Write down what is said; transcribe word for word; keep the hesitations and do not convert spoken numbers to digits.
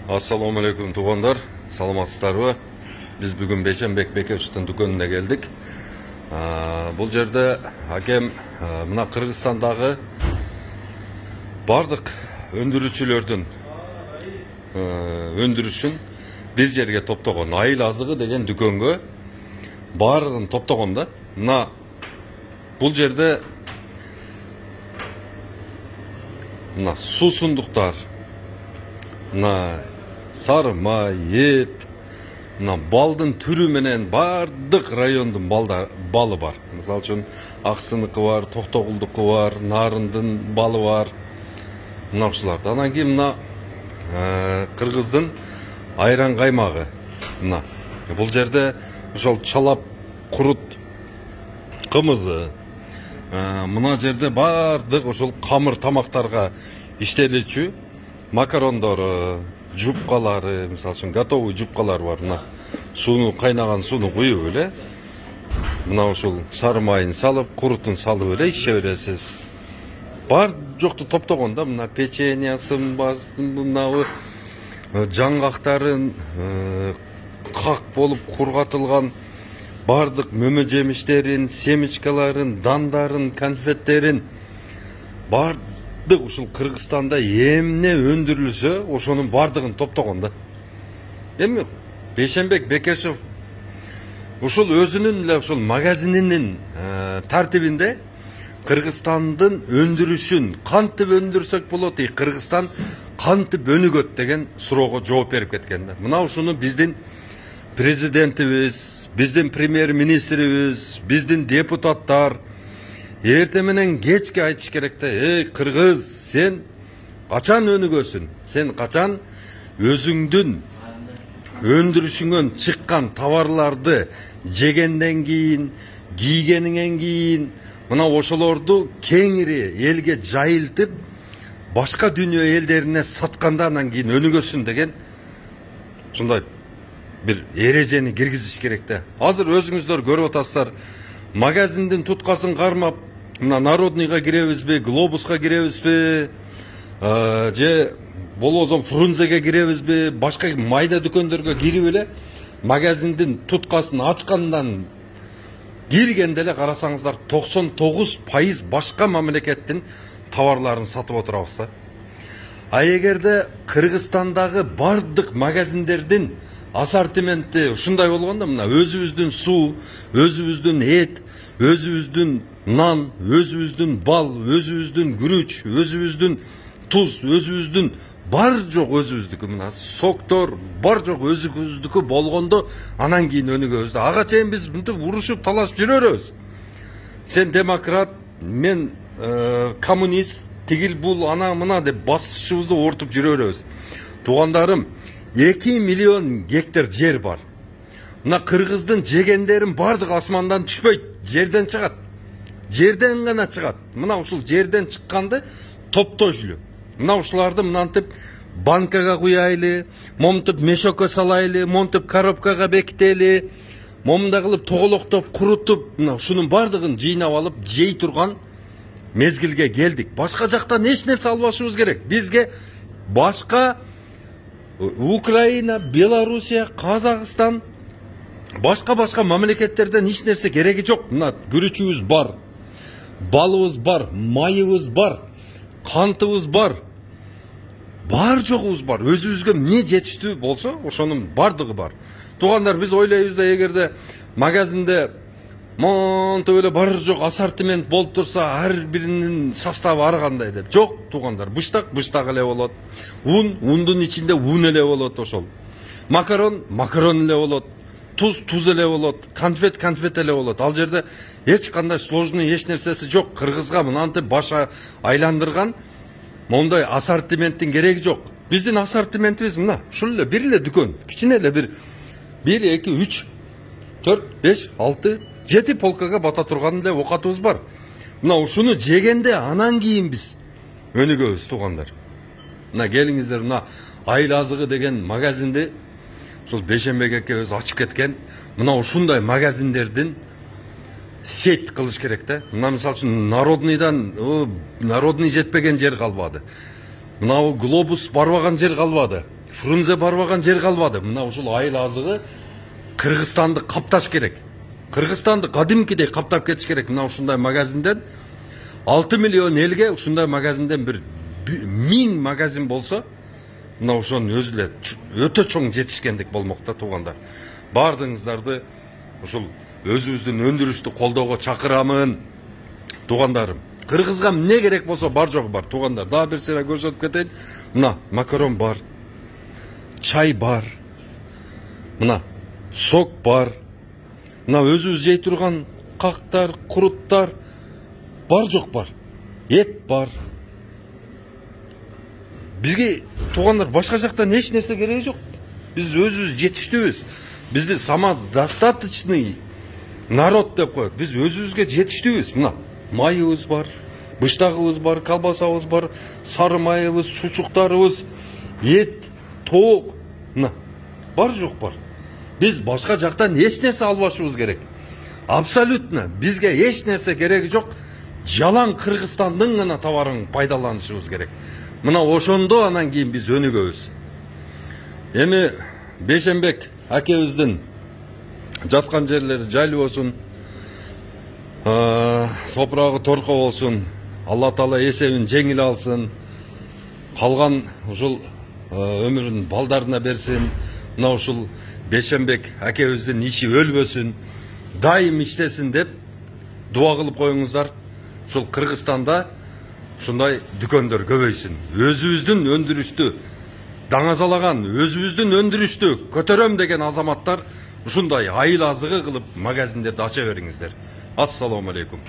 Assalamu alaikum tuğanlar, salamatсыздарбы? Biz bugün Бейшенбек Бекешевтің дүкөнүнө келдик. Бұл жерде акем мына Кыргызстандагы бардык өндүрүүчүлөрдүн өндүрүшүн бир жерге топтогон. Айыл азыгы деген дүкөнгө бардыгын топтогон да. Мына бул жерде мына суусундуктар, мына сары май, эт, мына балдын түрү менен бардык райондун балы бар. Мисалы үчүн Аксыныкы бар, Токтогулдуку бар, Нарындын балы бар. Мына ушуларды. Анан кийин мына Кыргыздын айран каймагы. Мына бул жерде ошол чалап курут кымызы, мына жерде бардык ошол камыр тамактарга иштелүүчү макарондору, жупкалары, мисалы үчүн готовый жупкалар бар. Мына сууну кайнаган сууну куюп эле, мына ушул сары майын салып, курутун салып эле иче бересиз. Бар жокту топтогон да, мына печеньясын, мына жаңгактарын, как болуп кургатылган бардык мөмө жемиштерин, семечкаларын, дандарын, конфеттерин бардык ушул Кыргызстанда эмне өндүрүлсө, ошонун бардыгын топтогон да. Эми Бейшенбек Бекешев ушул өзүнүн эле ушул магазининин тартибинде Кыргызстандын өндүрүшүн кантип өндүрсөк болот, и Кыргызстан кантип өнүгөт деген суроого жооп берип кеткен да. Мына ушуну биздин президентибиз, биздин премьер-министрибиз, биздин депутаттар эрте менен кечке айтыш керек да. Эй, Кыргыз, сен качан өнүгөсүң? Сен качан өзүңдүн өндүрүшүңөн чыккан товарларды жегенден кийин, кийгениңен кийин, мына ошолорду кеңири элге жайылтып, башка дүйнө элдерине сатканда анан кийин өнүгөсүн деген ушундай бир эрежени киргизиш керек да. Азыр өзүңүздөр көрүп атасыздар, магазиндин туткасын кармап, мына Народныйга киребизби, Глобуска киребизби, же болбосо Фрунзеге киребизби, башка майда дүкөндөргө кирип эле магазиндин туткасын ачкандан киргенде эле карасаңыздар токсон тогуз пайыз башка мамлекеттин товарларын сатып отурабыз да. А эгерде Кыргызстандагы бардык магазиндердин ассортименти ушундай болгондо, мына өзүбүздүн суу, өзүбүздүн эт, өзүбүздүн нан, өзүбүздүн бал, өзүбүздүн күрүч, өзүбүздүн туз, өзүбүздүн бар жок өзүбүздүкү, мына соктор бар жок өзүбүздүкү болгондо анан кийин өнүгөбүз да. Ага чейин биз мынтип урушуп талашып жүрөрбүз. Сен демократ, мен коммунист, тигил бул ана мына деп басышыбызды ортуп жүрөрбүз. Туугандарым, эки миллион гектар жер бар. Мына Кыргыздын жегендерин бардык асмандан түшпөйт, жерден чыгат. Жерден гана чыгат. Мына ушул жерден чыкканды топтойлу. Мына ушуларды мынантип банкага куяйлы, момтуп мешокко салайлы, момтуп коробкага бекители, момундай кылып тоголоктоп, курутуп, мына ушунун бардыгын жыйнап алып жей турган мезгилге келдик. Башка жактан эч нерсе албашыбыз керек. Бизге башка Украина, Белоруссия, Казакстан, башка-башка мамлекеттерден эч нерсе кереги жок. Мына күрүчүбүз бар, балыбыз бар, майыбыз бар, кантыбыз бар, бар жогубуз бар. Өзүбүзгө эмне жетиштүү болсо, ошонун бардыгы бар. Туугандар, биз ойлойбуз да, эгерде магазинде монтип эле бар жок ассортимент болуп турса, ар биринин составы ар кандай деп. Жок, туугандар, быштак быштак эле болот. Un, ундун ичинде un эле болот ошол. Макарон, макарон эле болот. Туз, туз эле болот. Конфет, конфет эле болот. Ал жерде эч кандай сложный эч нерсеси жок. Кыргызга мынантип баша айландырган мондай ассортименттин кереги жок. Биздин ассортиментибиз мына ушул эле бир эле дүкөн. Кичине эле бир бир, эки, үч, төрт, беш, алты, жети полкага бата турган эле оокатыбыз бар. Мына ушуну жегенде анан кийин биз өнүгөбүз, туугандар. Мына келиңиздер, мына айыл азыгы деген магазинди ушул Бейшенбек экебиз ачып кеткен. Мына ушундай магазиндердин сеть кылыш керек да. Мына мисалы үчүн Народныйдан Народный жетпеген жер калбады. Мынау глобус барбаган жер калбады. Фрунзе барбаган жер калбады. Мына ушул айыл азыгы Кыргызстанды капташ керек. Кыргызстанды кадимкидей каптап кетиш керек. Мына ушундай магазинден алты миллион элге ушундай магазинден бир миң магазин болсо, мына ошонун өзү эле өтө чоң жетишкендик болмок да туугандар. Бардыгыңыздарды ушул өзүбүздүн өндүрүштү колдоого чакырамын. Туугандарым, Кыргызга эмне керек болсо бар жогу бар. Туугандар, дагы бир сыйра көрсөтүп кетейин. Мына макарон бар, чай бар, мына сок бар, мына өзүбүз жей турган кактар, куруттар бар жок бар, эт бар. Бизге туугандар башка жактан эч нерсе кереги жок. Биз өзүбүз жетиштүүбүз. Бизди самодостаточный народ деп коет. Биз өзүбүзгө жетиштүүбүз. Мына майыбыз бар, быштагыбыз бар, колбасабыз бар, сары майыбыз, сучуктарыбыз, эт, тоок, мына бар жок бар. Биз башка жактан эч нерсе албашыбыз керек. Абсолютно бизге эч нерсе кереги жок. Жалаң Кыргызстандын гана товарын пайдаланышыбыз керек. Мына ошондо анан кийин биз өнүгөбүз. Эми Бейшенбек акебиздин жаткан жерлери жайлуу болсун, топурагы торко болсун, Алла Таала эсебин жеңил алсын, калган ушул өмүрүн балдарына берсин. Мына ушул Бейшенбек акебиздин иши өлбөсүн, дайым иштесин деп дуа кылып коюңуздар. Ушул Кыргызстанда ушундай дүкөндөр көбөйсүн. Өзүбүздүн өндүрүштү даңазалаган, өзүбүздүн өндүрүштү көтөрөм деген азаматтар ушундай айыл азыгы кылып магазиндерди ача бериңиздер. Ассаламу алейкум.